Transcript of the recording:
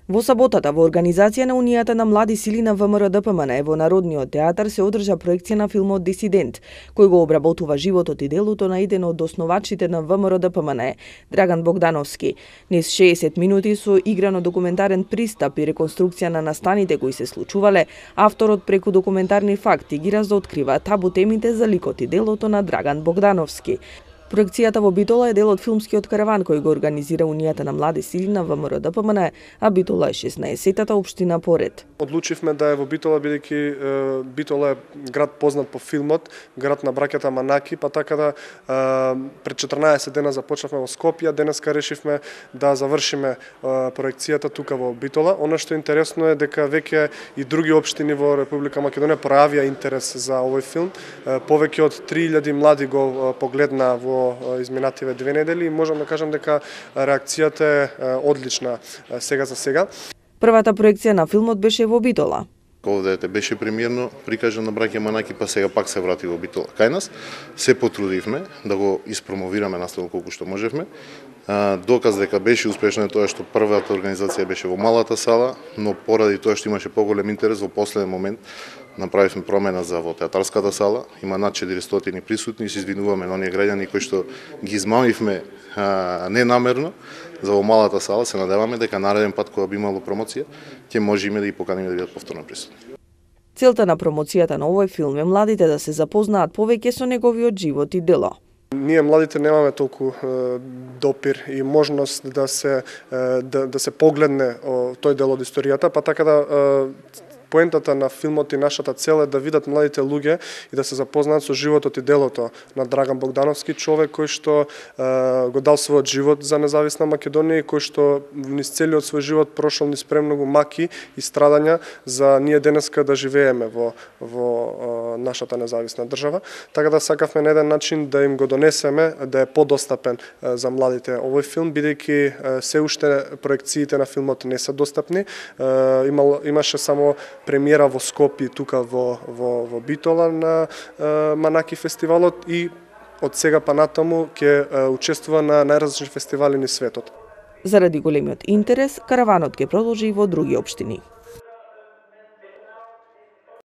Во саботата во организација на Унијата на млади сили на ВМРО-ДПМН во Народниот театар се одржа проекција на филмот Дисидент, кој го обработува животот и делото на еден од основачите на ВМРО-ДПМН, Драган Богдановски. Низ 60 минути со играно документарен пристап и реконструкција на настаните кои се случувале, авторот преку документарни факти ги разоткрива табу темите за ликот и делото на Драган Богдановски. Проекцијата во Битола е дел од филмскиот караван кој го организира Унијата на млади сили на ВМРО-ДПМН, а Битола е 16-тата општина поред. Одлучивме да е во Битола, бидејќи Битола е град познат по филмот, град на браќата Манаки, па така да пред 14 дена започнавме во Скопје, денеска решивме да завршиме проекцијата тука во Битола. Она што е интересно е дека веќе и други општини во Република Македонија пројавија интерес за овој филм. Повеќе од 3000 млади го погледна во изминативе 2 недели и можам да кажам дека реакцијата е одлична сега за сега. Првата проекција на филмот беше во Битола. Овде беше премиерно прикажан на браќа Манаки, па сега пак се врати во Битола кај нас. Се потрудивме да го испромовираме наставно колку што можевме. Доказ дека беше успешно е тоа што првата организација беше во малата сала, но поради тоа што имаше поголем интерес во последен момент направивме промена за во театарската сала. Има над 400 присутни и се извинуваме на оние граѓани кои што ги измамивме ненамерно за во малата сала. Се надеваме дека нареден пат кога би имало промоција, ќе можеме да ги поканиме да бидат повторно присутни. Целта на промоцијата на овој филм е младите да се запознаат повеќе со неговиот живот и дело. Ние младите немаме толку допир и можност да се погледне тој дел од историјата, па така да поентата на филмот и нашата цел е да видат младите луѓе и да се запознаат со животот и делото на Драган Богдановски, човек кој што го дал својот живот за независна Македонија и кој што низ целиот свој живот прошол низ премногу маки и страдања за ние денеска да живееме во нашата независна држава. Така да сакавме на еден начин да им го донесеме, да е подостапен за младите овој филм, бидејќи се уште проекциите на филмот не се достапни. Имаше само премиера во Скопје, тука во Битола на Манаки фестивалот и од сега па натаму ќе учествува на најразлични фестивали низ светот. Заради големиот интерес, караванот ќе продолжи и во други општини.